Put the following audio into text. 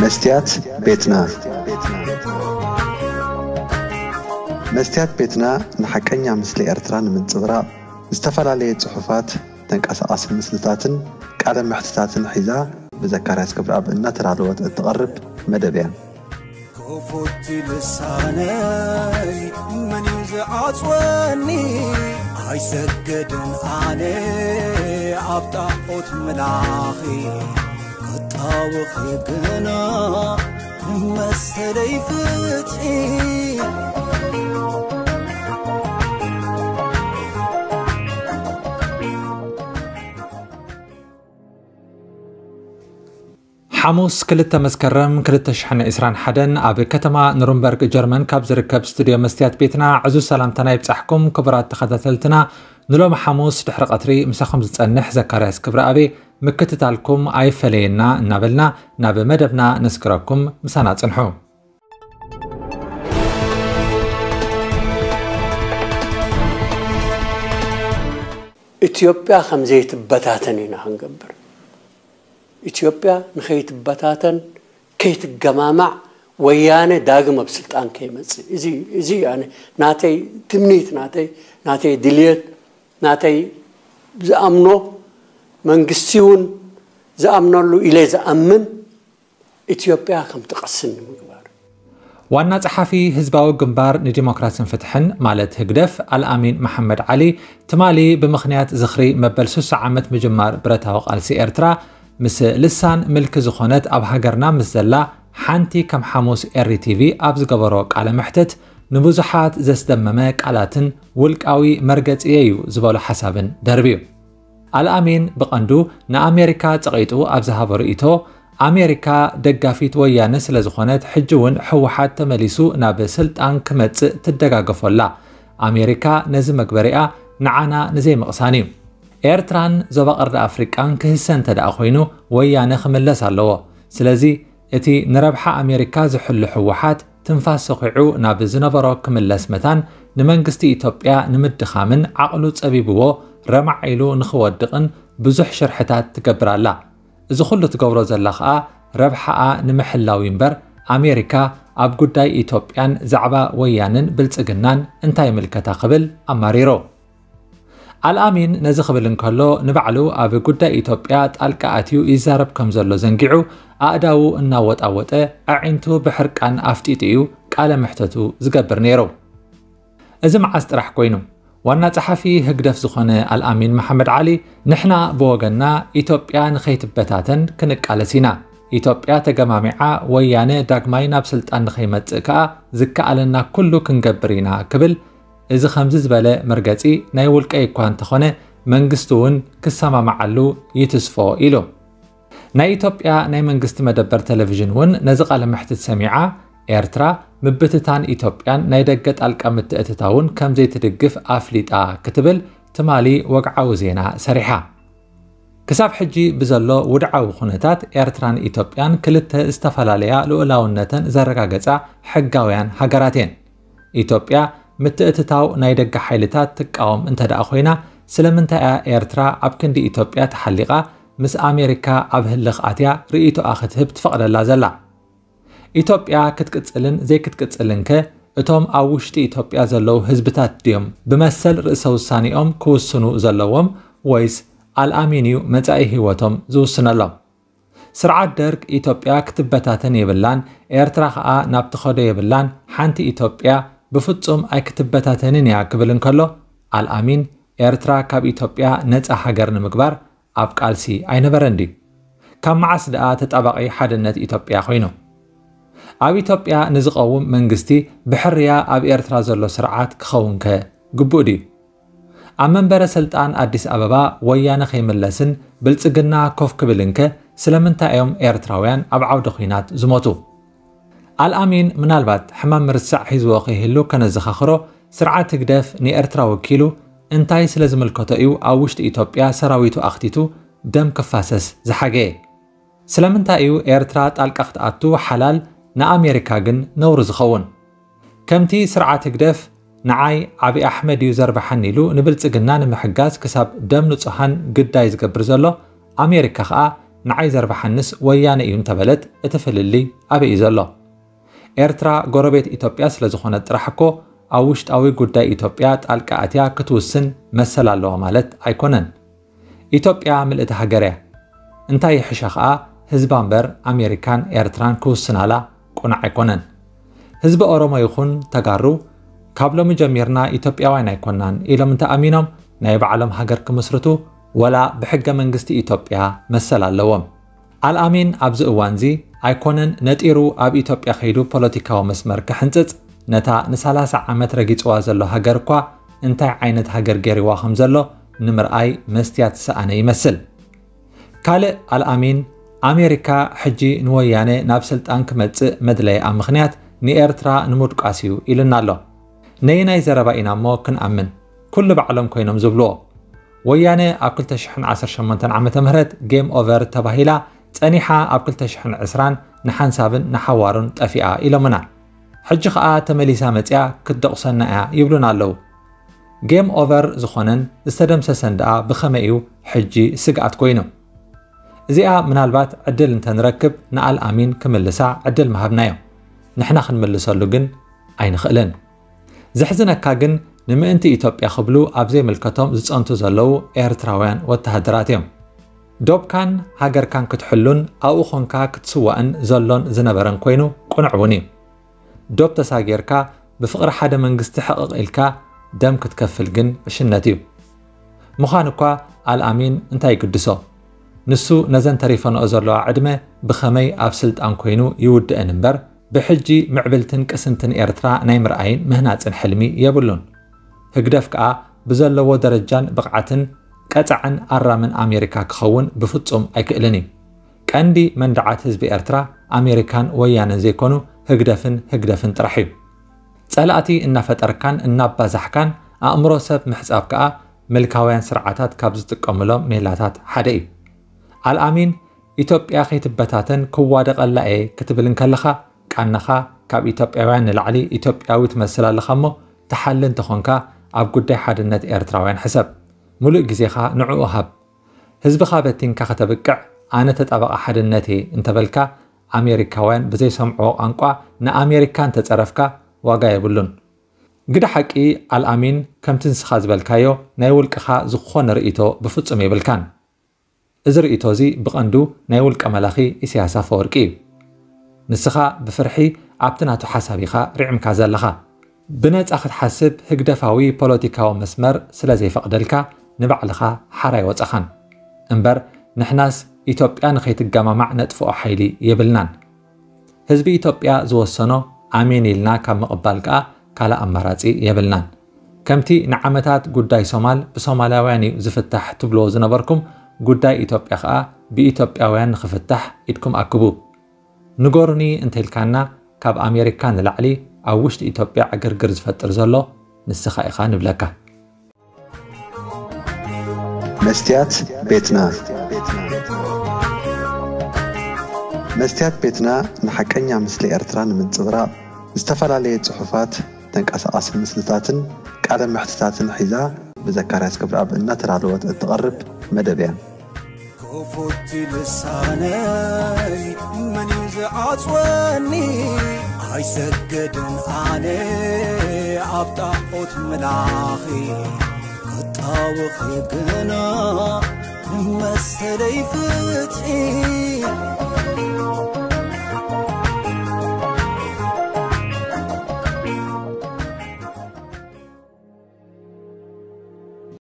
መስትያት ቤትና። መስትያት ቤትና ንሓቀኛ ምስሊ ኤርትራ ንምንጽብራቕ ዝተፈላለየ ጽሑፋት፣ ተንቀሳቓሲ ምስልታትን ቃለ መሕትታትን ሒዛ ብዘካርያስ ክብረኣብ እናተዳለወት እትቐርብ መደብ እያ። ክፉት ልሳነይ መን እዩ ዝዓጽወኒ? ኣይሰግድን ኣነ ኣብ ጣዖት ምላኺ፣ ክጣወኺ ግና መሰለይ ፍትሒ። ሓሙስ ክልተ መስከረም ክልተ ሽሕን ዕስራን ሓደን ኣብ ከተማ ኑርንበርግ ጀርመን ካብ ዝርከብ ስቱድዮ መስትያት ቤትና ዕዙዝ ሰላምታና ይብጻሕኩም። ክቡራት ተኸታተልትና፣ ንሎሚ ሓሙስ ድሕሪ ቀትሪ ምሳኹም ዝጸንሕ ዘካርያስ ክብረኣብ ምክትታልኩም ኣይፈለየና እናበልና ናብ መደብና ነስግረኩም። ምሳና ጽንሑ። ኢትዮጵያ ከም ዘይትበታተን ኢና ክንገብር። ኢትዮጵያ ንኸይትበታተን፣ ከይትገማማዕ፣ ወያነ ዳግም ኣብ ስልጣን ከይመጽእ። እዚ፣ እዚ ኣነ ናተይ ትምኒት፣ ናተይ፣ ናተይ ድልየት፣ ናተይ ዝኣምኖ፣ መንግስቲ እውን ዝኣምነሉ ኢለ ዝኣምን ኢትዮጵያ ከም ትቐስን ንምግባር። ዋና ጸሓፊ ህዝባዊ ግንባር ንዲሞክራስን ፍትሕን ማለት ህግደፍ ኣልኣሚን መሓመድ ዓሊ ትማሊ ብምኽንያት ዝኽሪ መበል ሱሳ ዓመት ምጅማር ብረታዊ ቃልሲ ኤርትራ ምስ ልሳን ምልኪ ዝኾነት ኣብ ሃገርና ምስ ዘላ ሓንቲ ከም ሓሙስ ኤሪ ቲቪ ኣብ ዝገበሮ ቃለ መሕትት ንብዙሓት ዘስደመመ ቃላትን ውልቃዊ መርገጺየ እዩ ዝበሎ ሓሳብን ደርብዩ። ኣልኣሚን ብቐንዱ ንኣሜሪካ ጸቒጡ ኣብ ዝሃቦ ርእይቶ ኣሜሪካ ደጋፊት ወያነ ስለ ዝኾነት ሕጂ እውን ህወሓት ተመሊሱ ናብ ስልጣን ክመጽእ ትደጋገፎ ኣላ። ኣሜሪካ ነዚ መግበሪኣ ንዓና ንዘይምቕሳን እዩ። ኤርትራን ዞባ ቀርኒ ኣፍሪቃን ክህሰ እንተ ደኣ ኮይኑ ወያነ ክምለስ ኣለዎ። ስለዚ እቲ ንረብሓ ኣሜሪካ ዝሕሉ ህወሓት ትንፋስ ሰኺዑ ናብ ዝነበሮ ክምለስ መታን ንመንግስቲ ኢትዮጵያ ንምድኻምን ዓቕሉ ጸቢብዎ ረማዕ ኢሉ ንኽወድቕን ብዙሕ ሽርሕታት ትገብር ኣላ። እዚ ኩሉ ትገብሮ ዘላ ኸኣ ረብሓኣ ንምሕላው እዩ እምበር ኣሜሪካ ኣብ ጉዳይ ኢትዮጵያን ዛዕባ ወያንን ብልጽግናን እንታይ ይምልከታ ክብል ኣማሪሩ። ኣልኣሚን ነዚ ክብል እንከሎ ንባዕሉ ኣብ ጉዳይ ኢትዮጵያ ጣልቃ ኣትዩ ይዛረብ ከም ዘሎ ዘንጊዑ ኣእዳዉ እናወጣወጠ ኣዒንቱ ብሕርቃን ኣፍጢጡ እዩ ቃለ መሕተቱ ዝገብር ነይሩ። እዚ መዓስ ጥራሕ ኮይኑ ዋና ጸሓፊ ህግደፍ ዝኾነ ኣልኣሚን መሓመድ ዓሊ ንሕና ብወገንና ኢትዮጵያ ንኸይትበታተን ክንቃለስ ኢና። ኢትዮጵያ ተገማሚዓ ወያነ ዳግማይ ናብ ስልጣን ንኸይመጽእ ከኣ ዝከኣለና ኩሉ ክንገብር ኢና ክብል እዚ ከምዚ ዝበለ መርገጺ ናይ ውልቀይ እኳ እንተኾነ መንግስቲ እውን ክሰማማዓሉ ይትስፎ ኢሉ። ናይ ኢትዮጵያ ናይ መንግስቲ መደበር ቴሌቪዥን እውን ነዚ ቃለ መሕትት ሰሚዓ ኤርትራ ምብትታን ኢትዮጵያን ናይ ደገ ጣልቃ ምትእትታውን ከም ዘይትድግፍ ኣፍሊጣ ክትብል ትማሊ ወግዓዊ ዜና ሰሪሓ። ክሳብ ሕጂ ብዘሎ ውድዓዊ ኩነታት ኤርትራን ኢትዮጵያን ክልተ ዝተፈላለያ ልኡላውነተን ዘረጋገጻ ሕጋውያን ሃገራት እየን። ኢትዮጵያ ምትእትታው ናይ ደገ ሓይልታት ትቃወም እንተ ደኣ ኮይና ስለምንታይ እያ ኤርትራ ኣብ ክንዲ ኢትዮጵያ ተሓሊቓ ምስ ኣሜሪካ ኣብ ህልኽ ኣትያ ርእይቶኣ ክትህብ ትፈቕደላ ዘላ? ኢትዮጵያ ክትቅጽልን ዘይክትቅጽልን ከ እቶም ኣብ ውሽጢ ኢትዮጵያ ዘለዉ ህዝብታት ድዮም ብመሰል ርእሰ ውሳኔኦም ክውስኑ ዘለዎም ወይስ ኣልኣሚን እዩ መጻኢ ህይወቶም ዝውስነሎም? ስርዓት ደርግ ኢትዮጵያ ክትበታተን የብላን፣ ኤርትራ ከኣ ናብ ትኸዶ የብላን፣ ሓንቲ ኢትዮጵያ ብፍጹም ኣይክትበታተንን እያ ክብል እንከሎ ኣልኣሚን ኤርትራ ካብ ኢትዮጵያ ነጻ ሃገር ንምግባር ኣብ ቃልሲ ኣይነበረን ድዩ? ካብ መዓስ ደኣ ተጣባቒ ሓድነት ኢትዮጵያ ኮይኑ? ኣብ ኢትዮጵያ ንዝቐውም መንግስቲ ብሕርያ ኣብ ኤርትራ ዘሎ ስርዓት ክኸውንከ ግቡእ ድዩ? ኣብ መንበረ ስልጣን ኣዲስ ኣበባ ወያነ ከይምለስን ብልጽግና ኮፍ ክብልንከ ስለምንታይ እዮም ኤርትራውያን ኣብ ዓውደ ኲናት ዝሞቱ? ኣልኣሚን ምናልባት ሕማም ምርሳዕ ሒዝዎ ከይህሉ ከነዘኻኽሮ ስርዓት ህግደፍ ንኤርትራ ወኪሉ እንታይ ስለ ዝምልከቶ እዩ ኣብ ውሽጢ ኢትዮጵያ ሰራዊቱ ኣኽቲቱ ደም ክፋሰስ ዝሓገየ? ስለምንታይ እዩ ኤርትራ ጣልቃ ክትኣቱ ሓላል ንኣሜሪካ ግን ነውሪ ዝኸውን? ከምቲ ስርዓት ህግደፍ ንዓይ ዓቢ ኣሕመድ እዩ ዘርብሓኒ ኢሉ ንብልጽግና ንምሕጋዝ ክሳብ ደም ንጹሃን ግዳይ ዝገብር ዘሎ ኣሜሪካ ኸኣ ንዓይ ዘርብሓንስ ወያነ እዩ እንተበለት እቲ ፍልልይ ኣበይ እዩ ዘሎ? ኤርትራ ጎረቤት ኢትዮጵያ ስለ ዝኾነት ጥራሕ እኮ ኣብ ውሽጣዊ ጉዳይ ኢትዮጵያ ጣልቃ ኣትያ ክትውስን መሰል ኣለዋ ማለት ኣይኮነን። ኢትዮጵያ ምልእቲ ሃገር እያ። እንታይ ይሕሸ ኸኣ ህዝባ እምበር ኣሜሪካን ኤርትራን ክውስናላ ቁኑዕ ኣይኮነን። ህዝቢ ኦሮሞ ይኹን ተጋሩ ካብ ሎሚ ጀሚርና ኢትዮጵያውያን ኣይኮናን ኢሎም እንተኣሚኖም ናይ ባዕሎም ሃገር ክምስርቱ ወላ ብሕገ መንግስቲ ኢትዮጵያ መሰል ኣለዎም። ኣልኣሚን ኣብዚ እዋንዚ ኣይኮነን ነጢሩ ኣብ ኢትዮጵያ ከይዱ ፖለቲካዊ መስመር ክሕንጽጽ ነታ ንሰላሳ ዓመት ረጊጽዋ ዘሎ ሃገር እኳ እንታይ ዓይነት ሃገር ገይርዋ ከም ዘሎ ንምርኣይ መስትያት ዝሰኣነ ይመስል። ካልእ ኣልኣሚን ኣሜሪካ ሕጂ ንወያነ ናብ ስልጣን ክመጽእ መድለይኣ ምኽንያት ንኤርትራ ንምድቋስ እዩ ኢልና ኣሎ። ነየናይ ዘረባ ኢና እሞ ክንኣምን? ኩሉ ባዕሎም ኮይኖም ዝብልዎ። ወያነ ኣብ ክልተ ሽሕን ዓሰርተ ሸሞንተን ዓመተ ምህረት ጌም ኦቨር ተባሂላ ጸኒሓ ኣብ ክልተ ሽሕን ዕስራን ንሓንሳብን ንሓዋሩን ጠፊኣ ኢሎምና። ሕጂ ኸኣ ተመሊሳ መጽያ ክትደቑሰና እያ ይብሉና ኣለዉ። ጌም ኦቨር ዝኾነን ዝተደምሰሰን ደኣ ብኸመይ እዩ ሕጂ ስግኣት ኮይኑ? እዚኣ ምናልባት ዕድል እንተንረክብ ንኣልኣሚን ክምልሳ ዕድል ምሃብናዮ። ንሕና ክንምልሰሉ ግን ኣይንኽእልን። ዘሕዝነካ ግን ንምእንቲ ኢትዮጵያ ክብሉ ኣብ ዘይምልከቶም ዝጸንቱ ዘለዉ ኤርትራውያን ወተሃደራት እዮም። ዶብካን ሃገርካን ክትሕሉን ኣብኡ ኾንካ ክትስዋእን ዘሎን ዝነበረን ኮይኑ ቅኑዕ እውን እዩ። ዶብ ተሳጊርካ ብፍቕሪ ሓደ መንግስቲ ሕቕቕ ኢልካ ደም ክትከፍል ግን ዕሽነት እዩ። ምዃን እኳ ኣልኣሚን እንታይ ይግድሶ? ንሱ ነዘን ተሪፈንኦ ዘለዋ ዕድመ ብኸመይ ኣብ ስልጣን ኮይኑ ይውድእን እምበር ብሕጂ ምዕብልትን ቅስንትን ኤርትራ ናይ ምርኣይን ምህናጽን ሕልሚ የብሉን። ህግደፍ ከኣ ብዘለዎ ደረጃን ብቕዓትን ቀጻዕን ኣራምን ኣሜሪካ ክኸውን ብፍጹም ኣይክእልን እዩ። ቀንዲ መንድዓት ህዝቢ ኤርትራ ኣሜሪካን ወያነን ዘይኮኑ ህግደፍን ህግደፍን ጥራሕ እዩ። ጸላእቲ እናፈጠርካን እናባዛሕካን ኣእምሮ ሰብ ምሕጻብ ከኣ ምልካውያን ስርዓታት ካብ ዝጥቀሙሎም ሜላታት ሓደ እዩ። ኣልኣሚን ኢትዮጵያ ከይትበታተን ክዋደቐላ እየ ክትብል እንከለኻ ቃናኻ ካብ ኢትዮጵያውያን ንላዕሊ ኢትዮጵያዊ ትመስል ኣለኻ እሞ ትሓሊ እንተኾንካ ኣብ ጉዳይ ሓድነት ኤርትራውያን ሕሰብ። ሙሉእ ግዜኻ ንዕኡ ሃብ። ህዝብኻ በቲንካ ከተብቅዕ ኣነ ተጣባቒ ሓድነት እየ እንተበልካ ኣሜሪካውያን ብዘይሰምዕዎ ቋንቋ ንኣሜሪካ እንተጸረፍካ ዋጋ የብሉን። ግደ ሓቂ ኣልኣሚን ከምቲ ንስኻ ዝበልካዮ ናይ ውልቅኻ ዝኾነ ርእይቶ ብፍጹም የብልካን። እዚ ርእይቶ እዚ ብቐንዱ ናይ ውልቀ መላኺ ኢሳያስ ኣፈወርቂ እዩ። ንስኻ ብፍርሒ ኣብቲ ናቱ ሓሳብ ኢኻ ርዒምካ ዘለኻ። ብነጻ ክትሓስብ ህግደፋዊ ፖለቲካዊ መስመር ስለ ዘይፈቕደልካ ንባዕልኻ ሓራ ኣይወጸኻን። እምበር ንሕናስ ኢትዮጵያ ንኸይትገማማዕ ነጥፍኦ ሓይሊ የብልናን። ህዝቢ ኢትዮጵያ ዝወሰኖ ኣሜን ኢልና ካብ ምቕባል ከኣ ካልእ ኣማራጺ የብልናን። ከምቲ ንዓመታት ጉዳይ ሶማል ብሶማላውያን እዩ ዝፍታሕ ትብልዎ ዝነበርኩም ጉዳይ ኢትዮጵያ ከኣ ብኢትዮጵያውያን ንኽፍታሕ ኢድኩም ኣክቡ። ንገሩኒ እንተኢልካና ካብ ኣሜሪካ ንላዕሊ ኣብ ውሽጢ ኢትዮጵያ ዕግርግር ዝፈጥር ዘሎ ንስኻ ኢኻ ንብለካ። መስትያት ቤትና መስትያት ቤትና ንሓቀኛ ምስሊ ኤርትራ ንምንጽብራቕ ዝተፈላለየ ጽሑፋት፣ ተንቀሳቓሲ ምስልታትን ቃለ መሕትታትን ሒዛ ብዘካርያስ ክብረኣብ እናተዳለወት እትቐርብ መደብ እያ። ክፉት ልሳነይ መን እዩ ዝዓጽወኒ? ኣይሰግድን ኣነ ኣብ ጣዖት ምላኺ ክጣወኺ ግና ንመሰለይ ፍትሒ